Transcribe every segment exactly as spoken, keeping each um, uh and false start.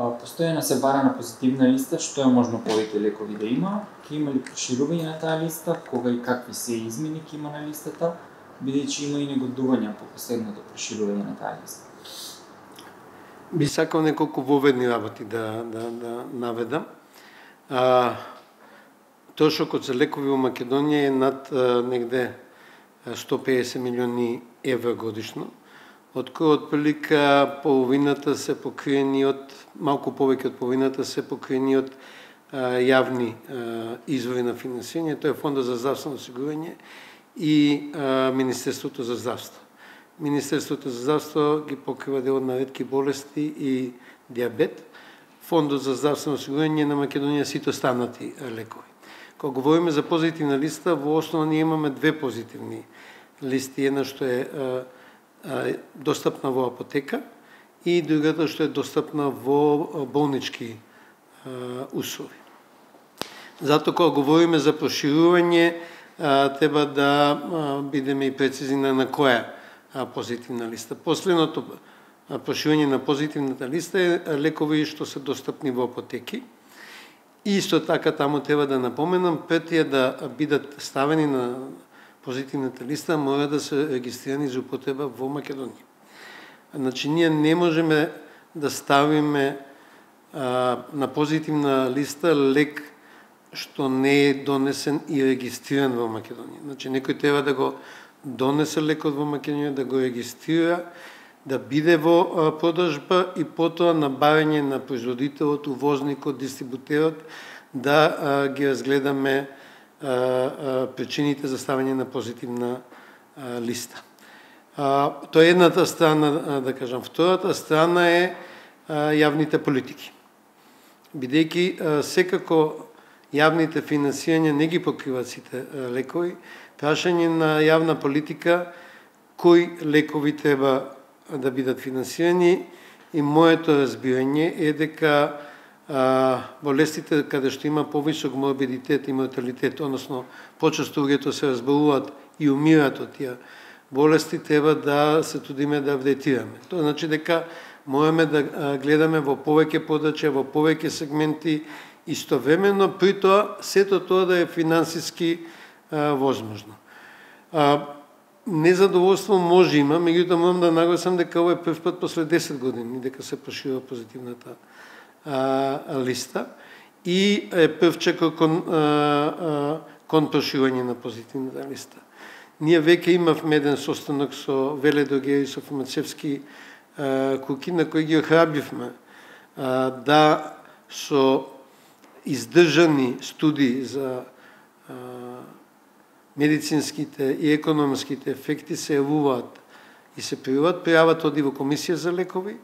Постојано се бара на позитивна листа, што е можно повеќе лекови да има, ќе има ли проширување на таа листа, кога и какви се измени ќе има на листата, бидејќи има и негодувања по последното проширување на таа листа. Би сакал неколку воведни работи да, да, да наведам. А, Трошокот за лекови во Македонија е над а, негде сто педесет милиони евра годишно, од кои отприлика половината се покриени од, малку повеќе од половината се покриени од а, јавни а, извори на финансирање, тоа е Фондот за здравствено осигурување и а, Министерството за здравство. Министерството за здравство ги покрива дел на ретки болести и диабет. Фондот за здравствено осигурување на Македонија сите останати лекови. Кога говориме за позитивна листа, во основа ние имаме две позитивни листи. Една што е а, а, достапна во апотека и другата што е достапна во болнички а, услови. Зато кога говориме за проширување, а, треба да а, бидеме и прецизни на, на која а, позитивна листа. Последното проширување на позитивната листа е лекови што се достапни во апотеки. И исто така таму треба да напоменам, пред да бидат ставени на позитивната листа, мора да се регистрирани за употреба во Македонија. Значи, ние не можеме да ставиме а, на позитивна листа лек што не е донесен и регистриран во Македонија. Значи, некој треба да го донесе лекот во Македонија, да го регистрира, да биде во продажба и потоа на барање на производителот, увозникот, дистрибутерот да а, ги разгледаме а, а, причините за ставање на позитивна а, листа. А, тоа е едната страна, а, да кажам. Втората страна е а, јавните политики. Бидејќи секако јавните финансирања не ги покриваат сите а, лекови, прашање на јавна политика кои лекови треба да бидат финансирани и моето разбирање е дека а, болестите каде што има повисок морбидитет и морталитет, односно почесто луѓето се разболуваат и умираат од тие болести, треба да се трудиме да вретираме. Тоа значи дека можеме да гледаме во повеќе подрачја, во повеќе сегменти истовремено, при тоа сето тоа да е финансиски а, возможно. А, Незадоволство може има, меѓутоа морам да нагласам дека ова е прв пат после десет години дека се проширува позитивната а, листа и е првче кон, а, а, кон проширување на позитивната листа. Ние веќе имавме еден состанок со веледрогери, со фармацевски а, куки, на кои ги охрабривме а, да со издржани студии за а, медицинските и економските ефекти се јавуваат и се пријават, пријават оди во Комисија за лекови,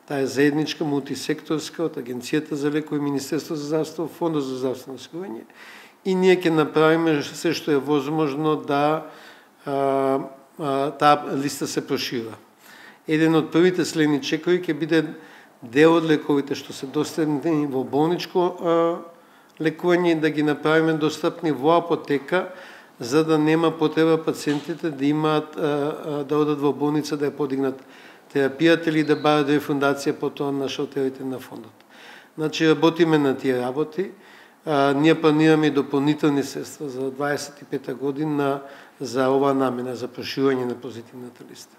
таа е заедничка, мултисекторска од Агенцијата за лекови, Министерство за здравство, Фондот за здравствено осигурување, и ние ќе направиме се што е возможно да а, а, таа листа се прошира. Еден од првите следни чекови ќе биде дел од лековите што се достапни во болничко а, лекување да ги направиме достапни во апотека, за да нема потреба пациентите да имаат да одат во болница да ја подигнат терапијата или да барат рефундација потоа на шалтерите на фондот. Значи работиме на тие работи. А, ние планираме дополнителни средства за дваесет и пета година за оваа намена, за проширување на позитивната листа.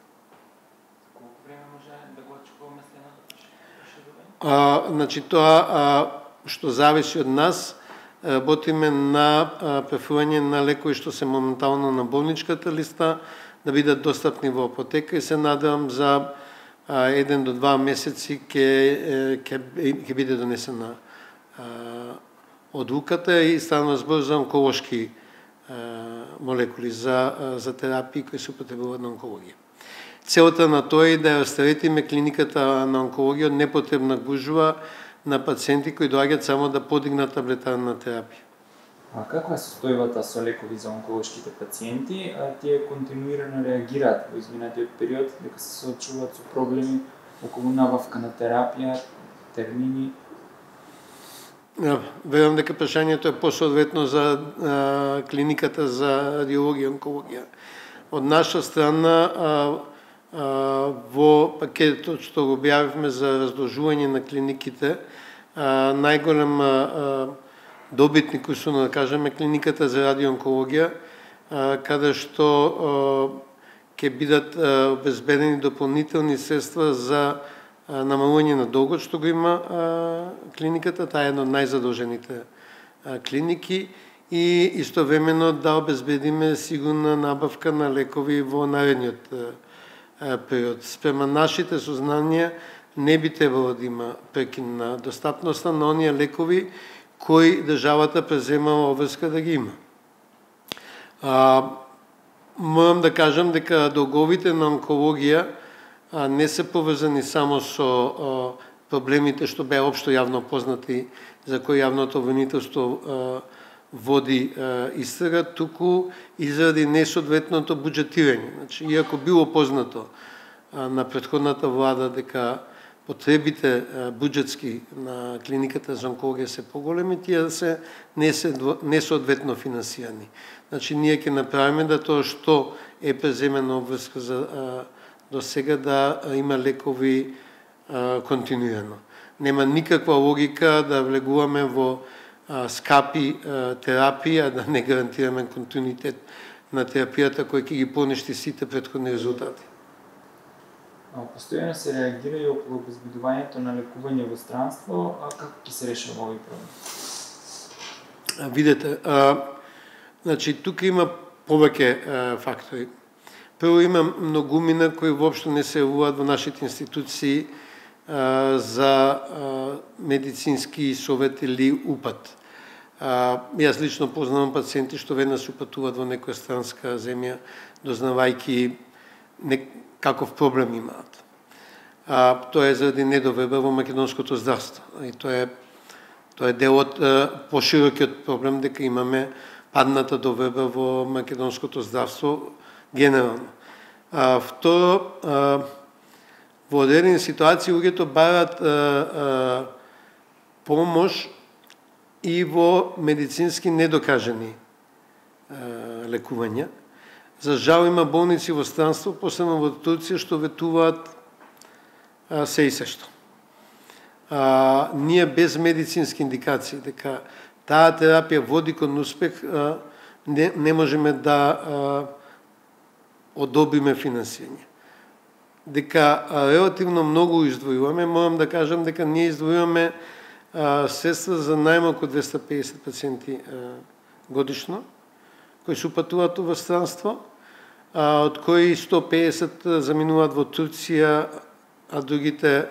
Колку време може да го очекуваме следното проширување? А, значи тоа а, што зависи од нас, работиме на префрлање на лекови што се моментално на болничката листа, да бидат достапни во апотека и се надевам за еден до два месеци ќе ќе биде донесена одлуката и станува збор за онколошки молекули за за терапии кои се употребуваат на онкологија. Целта на тоа е да растаретиме клиниката на онкологија од непотребна гужва на пациенти кои доаѓаат само да подигнат таблетарна терапија. А каква е состојбата со лекови за онколошките пациенти? А тие континуирано реагираат во изминатиот период, дека се соочуваат со проблеми околу набавка на терапија, термини? Верувам дека прашањето е посоодветно за а, клиниката за радиологија и онкологија. Од наша страна а, во пакетот што го објавивме за разложување на клиниките, најголем добитник, условно да кажеме, клиниката за радионкологија, каде што ќе бидат обезбедени дополнителни средства за намалување на долгот што го има клиниката. Таа е една од најзадолжените клиники и истовремено да обезбедиме сигурна набавка на лекови во наредниот период. Спрема нашите сознанија не би требало да има прекин на достапноста на оние лекови кои државата преземала обврска да ги има. А, морам да кажам дека долговите на онкологија а, не се поврзани само со а, проблемите што беа општо јавно познати, за кои јавното обвинителство води а, истрага, туку и заради несоодветното буџетирање. Значи, иако било познато а, на претходната влада дека потребите буџетски на клиниката за онкологија се поголеми, тие се не се несоодветно финансирани. Значи, ние ќе направиме да тоа што е преземено обврска за а, до сега да има лекови а, континуирано. Нема никаква логика да влегуваме во а, скапи а, терапии, а да не гарантираме континуитет на терапијата кој ќе ги поништи сите претходни резултати. Постојано се реагира и околу обезбедувањето на лекување во странство, а како ќе се решава овој проблем? Видете, а, значи тука има повеќе фактори. Прво има многумина кои воопшто не се јавуваат во нашите институции а, за а, медицински совет или упат. А, јас лично познавам пациенти што веднаш упатуваат во некоја странска земја, дознавајки не, каков проблем имаат. А, тоа е заради недоверба во македонското здравство. И тоа е тоа е дел од поширокиот проблем дека имаме падната доверба во македонското здравство генерално. А, второ, а, во одредени ситуации луѓето барат а, а, помош и во медицински недокажани а, лекувања. За жал има болници во странство, посебно во Турција, што ветуваат а, се и се што. А, ние без медицински индикации дека таа терапија води кон успех, а, не, не можеме да а, одобриме финансирање. Дека а, релативно многу издвојуваме, морам да кажам дека ние издвојуваме а, средства за најмалку двесте и педесет пациенти а, годишно, кои се упатуваат во странство, а, од кои сто и педесет заминуваат во Турција, а другите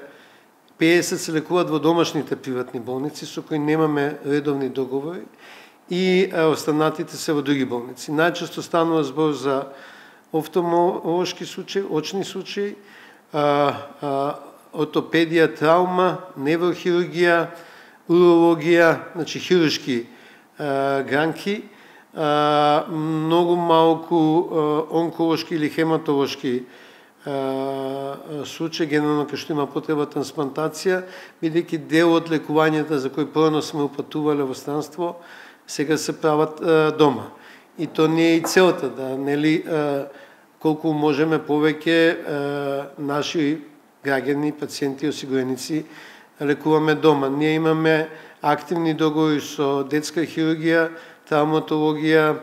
педесет се лекуваат во домашните приватни болници, со кои немаме редовни договори, и а, останатите се во други болници. Најчесто станува збор за офталмолошки случаи, очни случаи, а, а, ортопедија, траума, неврохирургија, урологија, значи хируршки а, гранки, а, многу малку а, онколошки или хематолошки а, случаи, генерално кај што има потреба трансплантација, бидејќи дел од лекувањата за кои првно сме упатувале во странство, сега се прават а, дома. И то не е и целта, да, нели, а, колку можеме повеќе а, наши граѓани, пациенти, осигуреници лекуваме дома. Ние имаме активни договори со детска хирургија, травматологија,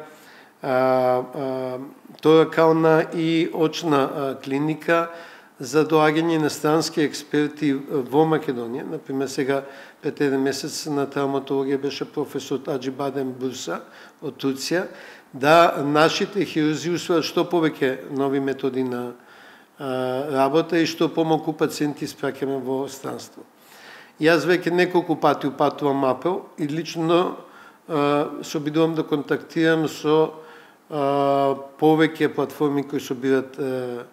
а, а, торакална и очна а, клиника за доаѓање на странски експерти во Македонија. Например, сега пред еден месец на травматологија беше професор Аџибаден Бурса од Турција, да нашите хирурзи усвојат што повеќе нови методи на а, работа и што помалку пациенти спраќаме во странство. Јас веќе неколку пати упатувам апел и лично а, се обидувам да контактирам со а, повеќе платформи кои собират а,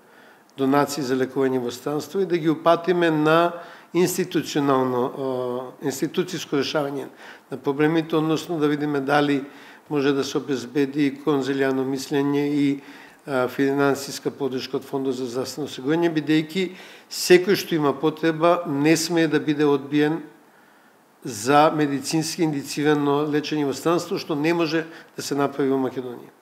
донации за лекување во странство и да ги упатиме на институционално, институцијско решавање на проблемите, односно да видиме дали може да се обезбеди конзилијано мислење и а, финансиска поддршка од Фондот за здравствено осигурување, бидејќи секој што има потреба не смее да биде одбиен за медицински индицирано лечење во странство, што не може да се направи во Македонија.